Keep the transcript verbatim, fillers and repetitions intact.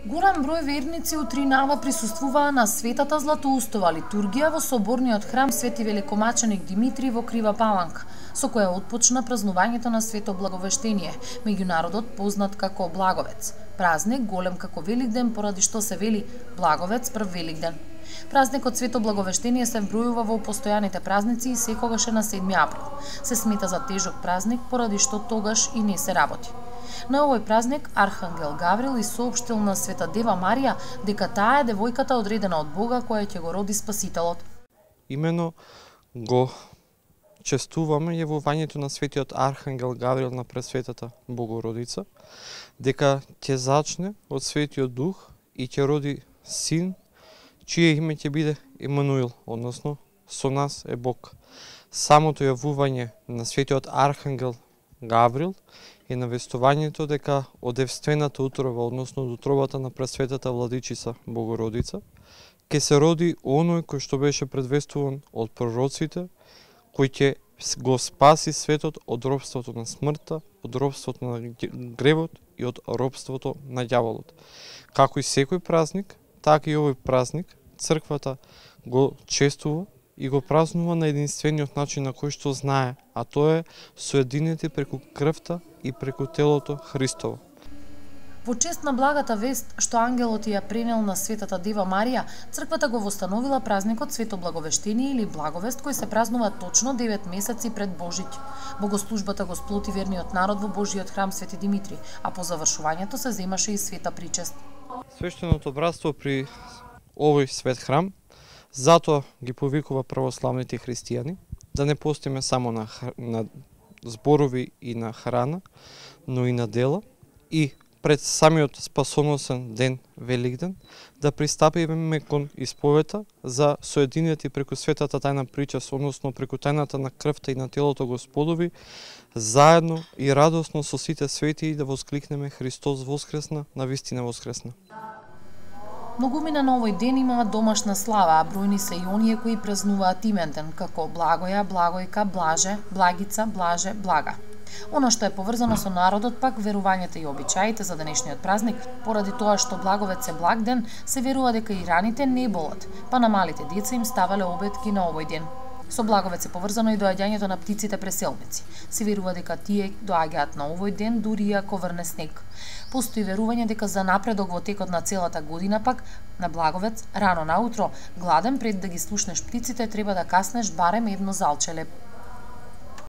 Голем број верници у Тринава присуствуваа на светата Златоустова литургија во соборниот храм Свети Великомаченик Димитрий во Крива Паланка, со која отпочна празнувањето на Свето Благовештение, меѓу народот познат како Благовец. Празник голем како Великден, поради што се вели Благовец прв Великден. Празникот Свето Благовештение се вбројува во постојаните празници и секогаш е на седми април. Се смета за тежок празник, поради што тогаш и не се работи. На овој празник Архангел Гаврил и соопштил на Света Дева Марија дека таа е девојката одредена од Бога која ќе го роди Спасителот. Имено го честуваме јавувањето на светиот Архангел Гаврил на Пресветата Богородица, дека ќе зачне од Светиот Дух и ќе роди син, чие име ќе биде Емануил, односно со нас е Бог. Самото јавување на светиот Архангел Гаврил е навестувањето дека од девствената утрова, односно од утробата на Пресветата Владичица Богородица, ќе се роди оној кој што беше предвестуван од пророците, кој ќе го спаси светот од робството на смртта, од робството на гревот и од робството на ѓаволот. Како и секој празник, така и овој празник црквата го честува и го празнува на единствениот начин на кој што знае, а тоа е соединети преку крвта и преку телото Христово. Во чест на благата вест што ангелот ја пренел на Светата Дева Марија, црквата го востановила празникот Свето Благовештение или Благовест, кој се празнува точно девет месеци пред Божиќ. Богослужбата го сплоти верниот народ во Божиот храм Свети Димитрий, а по завршувањето се земаше и света причест. Свештеното братство при овој свет храм затоа ги повикува православните христијани да не постиме само на, на зборови и на храна, но и на дела, и пред самиот спасоносен ден Великден да пристапиме кон исповета за соединети преку светата тајна причест, односно преку тајната на крвта и на телото Господови, заедно и радосно со сите свети да воскликнеме Христос воскресна, навистина воскресна. Многумина на овој ден имаат домашна слава, а бројни се и оние кои празнуваат именден, како Благоја, Благојка, Блаже, Благица, Блаже, Блага. Оно што е поврзано со народот пак верувањата и обичаите за денешниот празник, поради тоа што Благовец е благ ден, се верува дека и раните не болат, па на малите деца им ставале обетки на овој ден. Со Благовец е поврзано и доаѓањето на птиците преселници. Се верува дека тие доаѓаат на овој ден дури и ако врне снег. Постои верување дека за напредок во текот на целата година пак на Благовец, рано наутро, гладен пред да ги слушнеш птиците, треба да каснеш барем едно залче леп.